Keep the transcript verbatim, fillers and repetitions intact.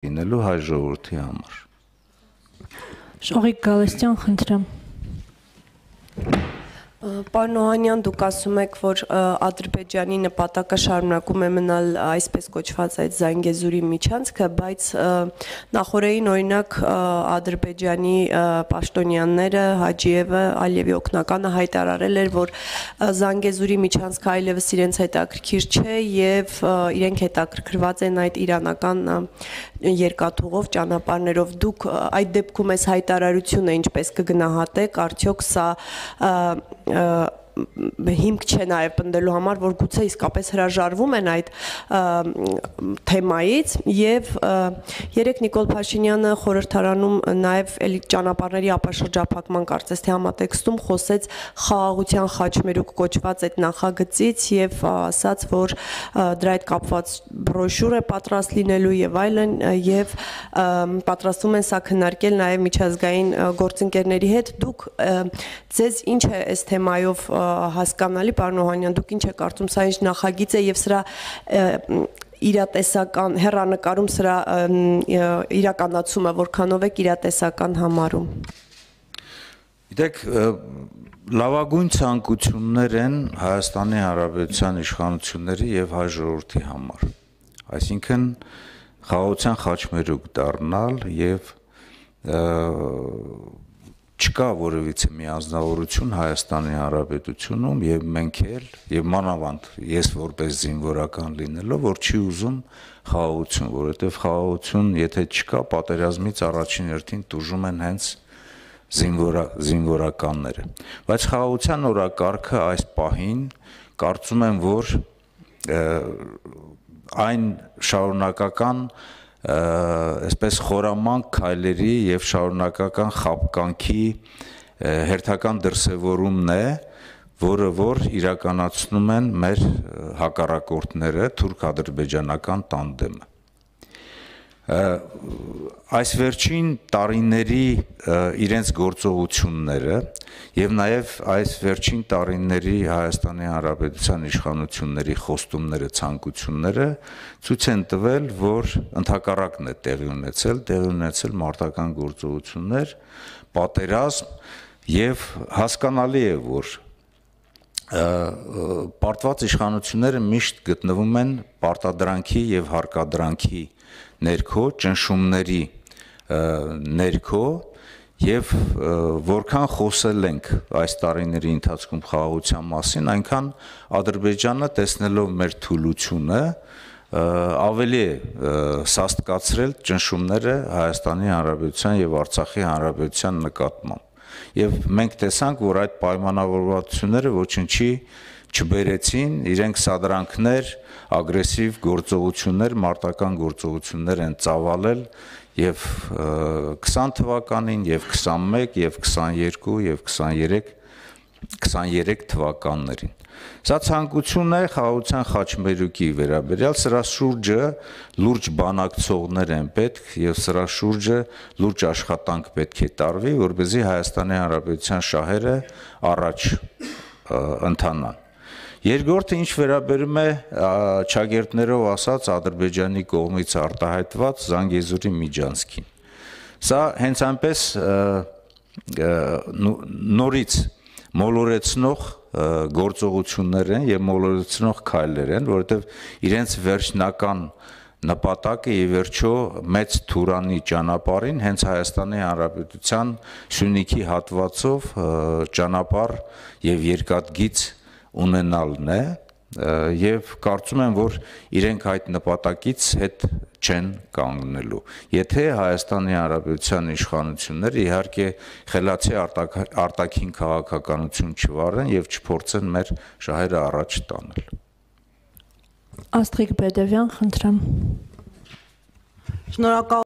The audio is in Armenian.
լինելու հայ ժողովրդի համար։ Շողիկ Գալստյան, խնդրեմ։ Պարոն Օհանյան, դուք ասում եք, որ Ադրբեջանի նպատակը շարունակում է մնալ այսպես կոչված այդ Զանգեզուրի միջանցքը, բայց նախորդին օրինակ Ադրբեջանի պաշտոնյաները, Հաջիևը, Ալիևի օգնականը հայտարարել էր, որ Զանգեզուրի միջանցքը այլևս իրենց հետաքրքիր չէ եւ իրենք հետաքրքրված են այդ իրանական երկաթուղով ճանապարհներով։ Դուք այդ դեպքում այս հայտարարությունը ինչպես կգնահատեք, արդյոք սա հիմք չէ նաև պնդելու համար, որ գուցե իսկապես հրաժարվում են այդ թեմայից եւ երեք Նիկոլ Փաշինյանը խորհրդարանում նաև էլի ճանապարհների ապաշրջափակման կարծես թե համատեքստում խոսեց խաղաղության խաչմերուկ կոչված այդ նախագծից եւ ասաց, որ դրա հետ կապված բրոշյուր է պատրաստ լինելու եւ այլն եւ պատրաստվում են սա քննարկել նաև միջազգային գործընկերների հետ։ Դուք ձեզ ինչ է այս թեմայով հասկանալի, պարոն Օհանյան, դուք ինչ եք կարծում, սա ինչ նախագիծ է եւ սրա իրատեսական հեռանկարում սրա իրականացումը որքանով եք իրատեսական համարում։ Գիտեք, լավագույն ցանկություններ են Հայաստանի Հանրապետության իշխանությունների եւ հայ ժողովրդի համար։ Այսինքն խաղաղության խաչմերուկ դառնալ եւ չկա որևիցե միանձնավորություն Հայաստանի Հանրապետությունում եւ մենք էլ եւ մանավանդ ես որպես զինվորական լինելով, որ չի ուզում խաղաղություն, որովհետեւ խաղաղություն եթե չկա, պատերազմից առաջին հերթին տուժում են հենց զինվորա զինվորականները։ Բայց խաղաղության օրակարգը այս պահին կարծում եմ, որ այն շարունակական այսպես խորամանկ քայլերի եւ շարունակական խապկանքի հերթական դրսևորումն է, որը որ իրականացնում են մեր հակառակորդները թուրք-ադրբեջանական տանդեմը։ Այս վերջին տարիների իրենց գործողությունները եւ նաեւ այս վերջին տարիների Հայաստանի Հանրապետության իշխանությունների խոստումները, ցանկությունները ցույց են տվել, որ ընդհակառակն է տեղի ունեցել, տեղի ունեցել մարտական գործողություններ, պատերազմ եւ հասկանալի է, որ պարտված իշխանությունները միշտ գտնվում են պարտադրանքի եւ հարկադրանքի ներքո, ճնշումների ներքո եւ որքան խոսել ենք այս տարիների ընթացքում խաղաղության մասին, այնքան Ադրբեջանը տեսնելով մեր թուլությունը ավելի է սաստկացրել ճնշումները Հայաստանի Հանրապետության եւ Արցախի Հանրապետության նկատմամբ։ Եվ մենք տեսանք, որ այդ պայմանավորվածությունները ոչինչի չբերեցին, իրենք սադրանքներ, ագրեսիվ գործողություններ, մարտական գործողություններ են ծավալել եւ քսան թվականին, եւ քսանմեկ, եւ քսաներկու, եւ քսաներեք, քսաներեք թվականներին։ Սա ցանկություն է խաղաղության խաչմերուկի վերաբերյալ, սրա շուրջը լուրջ բանակցողներ են պետք եւ սրա շուրջը լուրջ աշխատանք պետք է տարվի, որպեսզի Հայաստանի Հանրապետության շահերը առաջ ընթանան։ Երկրորդը ինչ վերաբերում է ճագերտներով ասած Ադրբեջանի կողմից արտահայտված Զանգեզուրի միջանցքին։ Սա հենց այնպես նորից մոլորեցնող գործողություններ են եւ մոլորեցնող քայլեր են, որովհետեւ իրենց վերջնական նպատակը ի վերջո մեծ Թուրանի ճանապարհին հենց Հայաստանի Հանրապետության Սյունիքի հատվածով ճանապարհ եւ երկաթգիծ ունենալն է եւ կարծում եմ, որ իրենք այդ նպատակից հետ չեն կանգնելու։ Եթե Հայաստանի Հանրապետության իշխանությունները իհարկե խելացի արտաքին քաղաքականություն չվարեն եւ չփորձեն մեր շահերը առաջ տանել։ Աստղիկ Բեդևյան, խնդրեմ։ Շնորհակալ